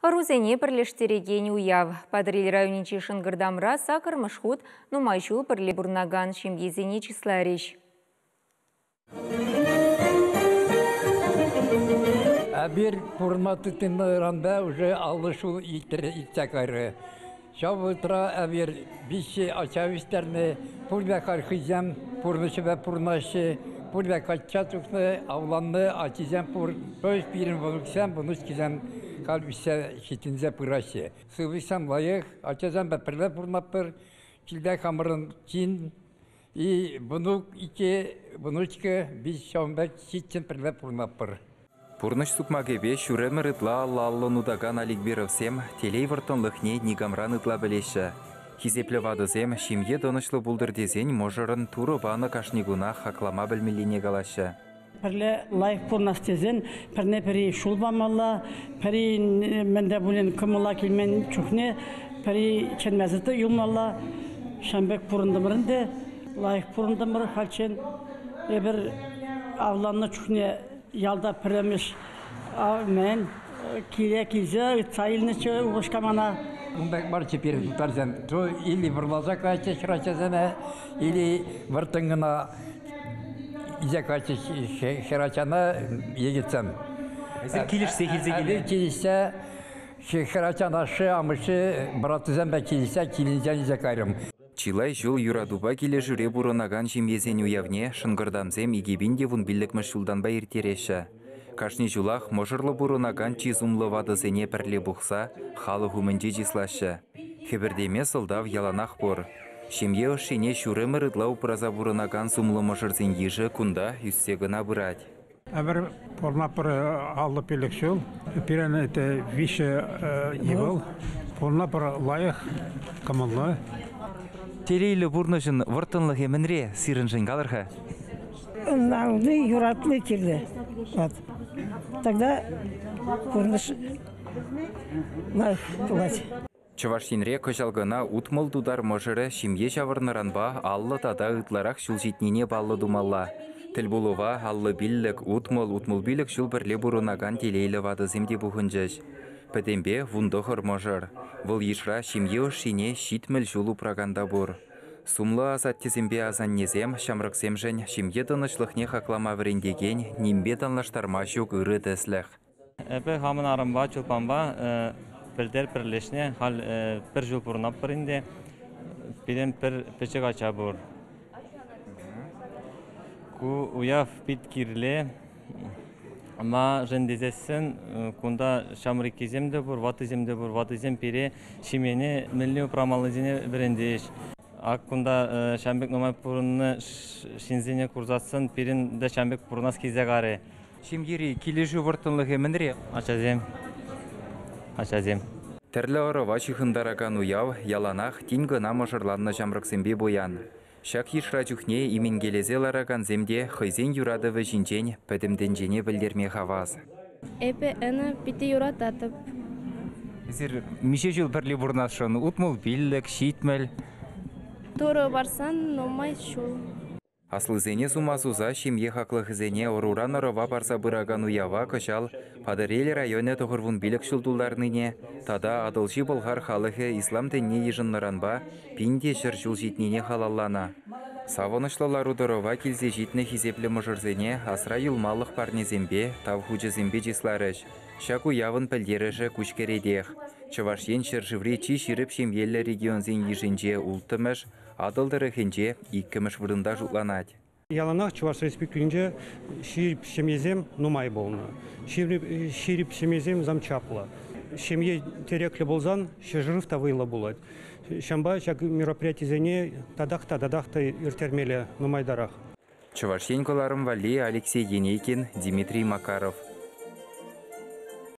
Ӑрусене пӗрлештерекен уяв. Патӑрьел районӗнчи Шӑнкӑртамра саккӑрмӗш хут нумай ҫул пӗрле пурӑнакан ҫемьесене чысларӗҫ. Эпир пурӑнма тытӑннӑранпа уже 50 ҫул иртсе кайрӗ. Ҫав вӑхӑтра эпир виҫҫӗ ача ӳстернӗ, пурте халь хӑйсем пурнӑҫӗпе пурӑнаҫҫӗ, пурте качча тухнӑ, авланнӑ, ачисем пур. То есть пирӗн внуксем, внучкисем халь ӳссе ҫитӗнсе пыраҫҫӗ. Сывлӑхсем лайӑх, ачасемпе пӗрле пурӑнатпӑр. Килте хамӑрӑн кин и внук, икӗ внучка, виҫ ҫавӑн пек ҫиччӗн пӗрле пурӑнатпӑр. Пурнӑҫ сукмакӗпе ҫур ӗмӗр ытла алла-аллӑн утакан Аликберовсем телей вӑрттӑнлӑхне никамран ытла пӗлеҫҫӗ. Хисеплӗ ватӑсем ҫемье тӑнӑҫлӑ пултӑр тесен мӑшӑрӑн Турӑ панӑ кашни куна хаклама пӗлмеллине калаҫҫӗ. Пӗрле лайӑх пурӑнас тесен пӗрне-пӗри ҫул памалла, пӗри мӗн те пулин кӑмӑла килмен чухне пӗри чӗнмесӗр те юлмалла. Ҫавӑн пек пурӑнтӑмӑр ӗнтӗ, лайӑх пурӑнтӑмӑр хальччен. Эпир авланнӑ чухне ялта пӗрремӗш мӗн киле килсе ыйтса илнӗччӗ упӑшка мана. Ун пек марччӗ пирӗн тутарсем. То или вӑрласа каятчӗҫ хӗрачасене, или вӑрттӑн кӑна илсе каятчӗҫ хӗрачана йӗкӗтсем. Эсир килӗшсе килсе килнӗ? Килӗшсе хӗрачан ашшӗ, амӑшӗ, братсемпе килӗшсе килӗнчен илсе кайрӑм. Чылай ҫул юратупа килӗшӳре пурӑнакан ҫемьесен уявне Шӑнкӑртамсем 2015-мӗш ҫултанпа ирттереҫҫӗ. Кашни ҫулах мӑшӑрлӑ пурӑнакан чи сумлӑ ватӑсене пӗрле пухса халӑх умӗнче чыслаҫҫӗ. Хӗпӗртеме сӑлтав яланах пур. Ҫемье ӑшшине ҫур ӗмӗр ытла упраса пурӑнакан сумлӑ мӑшӑрсен йышӗ кунта ӳссе кӑна пырать. Эпир пурӑнатпӑр 55 ҫул. Пирӗн это виҫӗ ывӑл. Пурӑнатпӑр лайӑх, кӑмӑллӑ. Телейлӗ пурнӑҫӑн вӑрттӑнлӑхӗ мӗнре сирӗншӗн калӑр-ха? Ӑнланни, юратни кирлӗ. Вот. Тогда пурнӑҫ лайӑх пулать. Чӑваш Енре кӑҫал кӑна 60 тутар мӑшӑрӗ ҫемье ҫавӑрнӑранпа 50 тата ытларах ҫул ҫитнине паллӑ тумалла. Тӗлпулӑва 55, 60, 65 ҫул пӗрле пурӑнакан телейлӗ ватӑсем те пухӑнчӗҫ. Пӗтӗмпе 19 мӑшӑр. Вӑл йышра ҫемье ӑшшине 70 ҫул упракан та пур. Сумлӑ асаттесемпе асаннесем ҫамрӑксемшӗн ҫемье тӑнӑҫлӑхне хаклама вӗрентекен нимпе танлаштарма ҫук ырӑ тӗслӗх. Эпӗ хамӑн арӑмпа, Чулпанпа пӗлтер пӗрлешнӗ. Халь пӗр ҫул пурӑнатпӑр ӗнтӗ. Пирӗн пӗр пӗчӗк ача пур. Ку уяв пит кирлӗ. Маншӑн тесессӗн кунта ҫамрӑккисем те пур, ваттисем те пур. Ваттисем пире ҫемьене мӗнле упрамаллисене вӗрентӗҫ. Ак кунта ҫавӑн пек нумай пурӑннӑ ҫынсене курсассӑн пирӗн те ҫавӑн пек пурӑнас килсе карӗ. Ҫемьери килӗшӳ вӑрттӑнлӑхӗ мӗнре? Ачасем. Ачасем. Тӗрлӗ ӑрӑва ҫыхӑнтаракан уяв яланах тин кӑна мӑшӑрланнӑ ҫамрӑксемпе пуян. Ҫак йышра чухне именкелесе ларакансем те хӑйсен юратӑвӗ ҫинчен пӗтӗм тӗнчене пӗлтерме хавас. Эпӗ ӑна питӗ юрататӑп. Эсир миҫе ҫул пӗрле пурӑнасшӑн? 65, 70? Турӑ парсан нумай ҫул. Аслисене сума суса ҫемье хаклӑхӗсене ӑруран ӑрӑва парса пыракан уява кӑҫал Патӑрьел районӗ 95 ҫул тултарнине тата Атӑлҫи Пӑлхар халӑхӗ ислам тӗнне йышӑннӑранпа 1100 ҫул ҫитнине халалланӑ. Савӑнӑҫлӑ лару-тӑрӑва килсе ҫитнӗ хисеплӗ мӑшӑрсене асра юлмалӑх парнесемпе, тав хучӗсемпе чысларӗҫ. Ҫак уявӑн пӗлтерӗшӗ куҫкӗретех. Чӑваш Ен ҫӗршыври чи ҫирӗп ҫемьеллӗ регионсен йышӗнче улттӑмӗш, Атӑл тӑрӑхӗнче иккӗмӗш вырӑнта шутланать. Яланах Чӑваш Республикинче ҫирӗп ҫемьесем нумай пулнӑ. Ҫирӗп ҫемьесем зам чаплӑ. Ҫемье тӗреклӗ пулсан ҫӗршыв та вӑйлӑ пулать. Ҫавӑнпа ҫак мероприятисене татах та татах та ирттермелле нумайтарах. Чӑваш Ен кӑларӑм валли Алексей Енейкин, Дмитрий Макаров.